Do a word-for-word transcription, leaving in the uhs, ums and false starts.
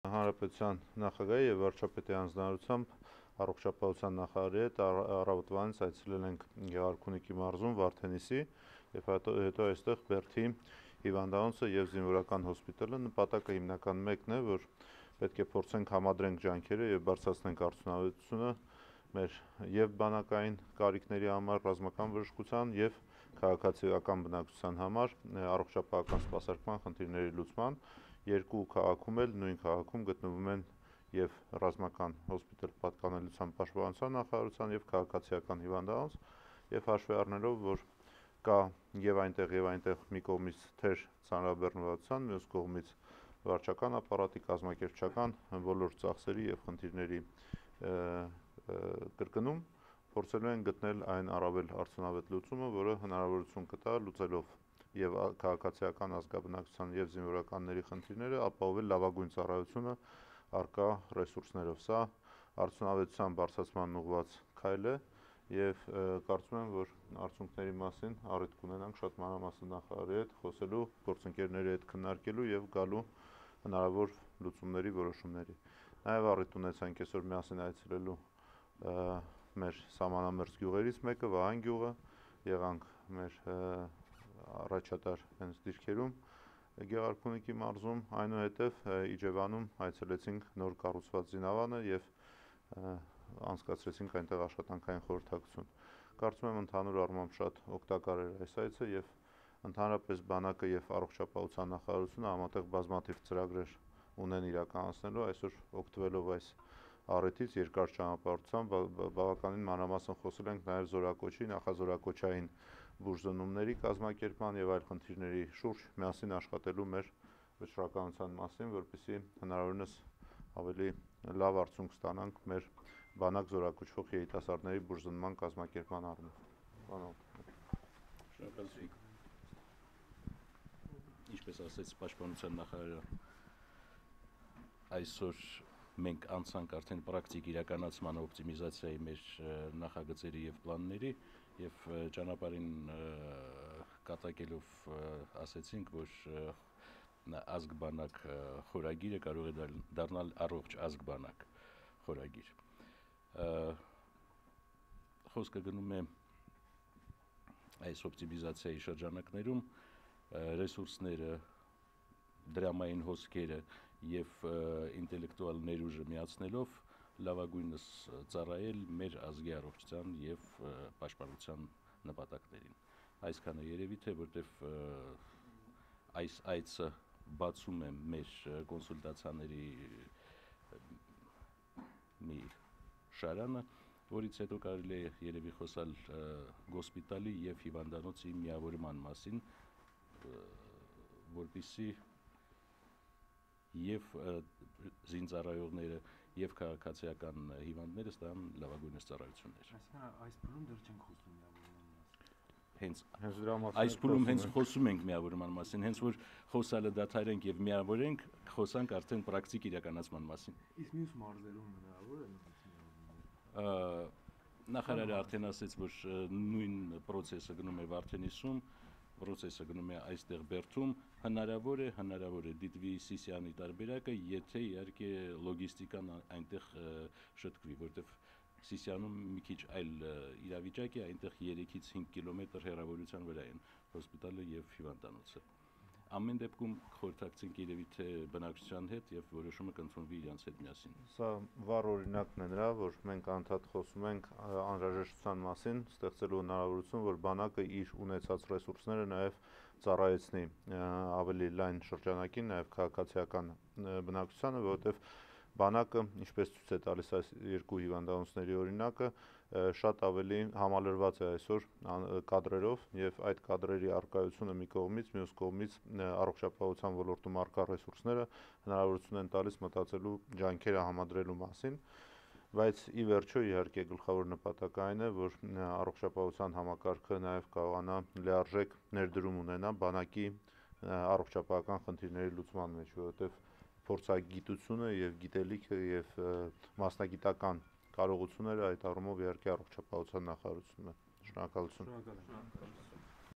Հանրապետության նախագահի եւ վարչապետի անձնարարությամբ առողջապահության նախարարի հետ առավոտվանից այցելել ենք Գեղարքունիքի մարզում Վարդենիսի եւ հետո այստեղ Բերդի հիվանդանոցը եւ զինվորական հոսպիտալը։ Նպատակը հիմնական մեկն է, որ պետք է փորձենք համադրենք ջանքերը եւ բարձրացնենք արդյունավետությունը մեր եւ բանակային կարիքների համար, ռազմական բժշկության եւ քաղաքացիական բնակչության համար առողջապահական սպասարկման խնդիրների լուծման։ Երկու քաղաքում էլ նույն քաղաքում գտնվում են եւ ռազմական հոսպիտալ պատկանելիության պաշտպանության նախարարության եւ քաղաքացիական հիվանդանոց եւ հաշվի առնելով, որ կա եւ այնտեղ եւ այնտեղ մի կողմից թեր ցանրաբեռնվածության, մյուս կողմից վարչական ապարատի, կազմակերպչական բոլոր ծախսերի եւ խնդիրների կրկնում, փորձելու են գտնել այն առավել արդյունավետ լուծումը, որը հնարավորություն կտա լուծելով եւ քաղաքացիական ազգաբնակչության եւ զինվորականների խնդիրները ապահովել լավագույն ծառայությունը առկա ռեսուրսներով։ Սա արդյունավետության բարձրացման ուղղված քայլ է եւ կարծում եմ, որ արդյունքների մասին առիթ կունենանք շատ մանրամասն նախարարի հետ խոսելու, գործընկերների հետ քննարկելու եւ գալու հնարավոր լուծումների որոշումների։ Նաեւ առիթ ունեցանք այսօր միասին այցելելու մեր սահմանամերձ գյուղերից մեկը Վահան գյուղը, եղանք մեր առաջատար հենց դիրքերում Գեղարքունիքի մարզում, այնուհետև Իջևանում այցելեցինք նոր կառուցված զինավանը եւ անցկացրեցինք այնտեղ աշխատանքային խորհրդակցություն։ Կարծում եմ ընդհանուր առմամբ շատ օգտակար էր այս այցը եւ ընդհանրապես բանակը եւ առողջապահության նախարարությունը համատեղ բազմաթիվ ծրագրեր ունեն իրականացնելու, այսօր օգտվելով այս առիթից երկար ճանապարհությամբ բավականին մանրամասն խոսել ենք նաեւ զորակոչի, նախազորակոչային բուժզնումների կազմակերպման եւ այլ խնդիրների շուրջ միասին աշխատելու մեր վճռականության մասին, որպեսզի հնարավորինս ավելի լավ արդյունք ստանանք մեր բանակ զորակոչվող երիտասարդների բուժզնման կազմակերպման առումով։ Շնորհակալություն։ Ինչպես ասեց պաշտպանության նախարարը, այսօր մենք անցանք արդեն պրակտիկ իրականացման օպտիմիզացիայի մեր նախագծերի եւ պլանների եւ ճանապարհին կատակելով ասեցինք, որ ազգ-բանակ խորագիրը կարող է դառնալ առողջ ազգ-բանակ խորագիր։ Խոսքը գնում է այս օպտիմիզացիայի շրջանակներում ռեսուրսները, դրամային հոսքերը եւ ինտելեկտուալ ներուժը միացնելով լավագույնս ծառայել մեր ազգի առողջության եւ պաշտպանության նպատակներին։ Այսքանը երևի թե որտեվ այս այցը բացում է մեր կոնսուլտացիաների մի շարանը, որից հետո կարելի է երևի խոսալ գոսպիտալի եւ հիվանդանոցի միավորման մասին, որպեսզի եւ զինծառայողները եւ քաղաքացիական հիվանդները ստանան լավագույնս ծառայություններ։ Այսինքն այս փուլում դեռ չենք խոսում միավորման մասին։ Հենց այս փուլում հենց խոսում ենք միավորման մասին, հենց որ խոսալը դադարենք եւ միավորենք, խոսանք արդեն պրակտիկ իրականացման մասին։ Իսկ մյուս մարզերում հնարավոր է միավորել։ Նախարարը արդեն ասաց, որ նույն process-ը գնում է Վարդենիսում, process-ը գնում է այստեղ Բերդում, հնարավոր է, հնարավոր է դիտվի Սիսիանի տարբերակը, եթե իհարկե լոգիստիկան այնտեղ շտկվի, որտեղ Սիսիանում մի քիչ այլ իրավիճակ է, այնտեղ երեքից հինգ կիլոմետր հեռավորության վրա են հոսպիտալը եւ հիվանդանոցը։ Ամեն դեպքում խորհրդակցենք երևի թե բնակչության հետ եւ որոշումը կընդունվի իրancs հետ միասին։ Սա վառ օրինակն է նրա, որ մենք անդադ խոսում ենք անհրաժեշտության մասին, ստեղծելու հնարավորություն, որ բանակը իր ունեցած ռեսուրսները նաեւ ծառայեցնի ավելի լայն շրջանակին, նաեւ քաղաքացիական բնակչությանը, որովհետեւ բանակը, ինչպես ցույց է տալիս այս երկու հիվանդանոցների օրինակը, շատ ավելի համալրված է այսօր կադրերով եւ այդ կադրերի առկայությունը մի կողմից, մյուս կողմից առողջապահության ոլորտում առկա ռեսուրսները հնարավորություն են տալիս մտածելու ջանքերը համադրելու մասին, բայց ի վերջո իհարկե գլխավոր նպատակը այն է, որ առողջապահության համակարգը նաեւ կարողանա լիարժեք ներդրում ունենա բանակի առողջապահական խնդիրների լուծման մեջ, որովհետեւ փորձագիտությունը եւ գիտելիքը եւ մասնագիտական կարողությունները այդ առումով իհարկե առողջապահության նախարարությունն է։ Շնորհակալություն։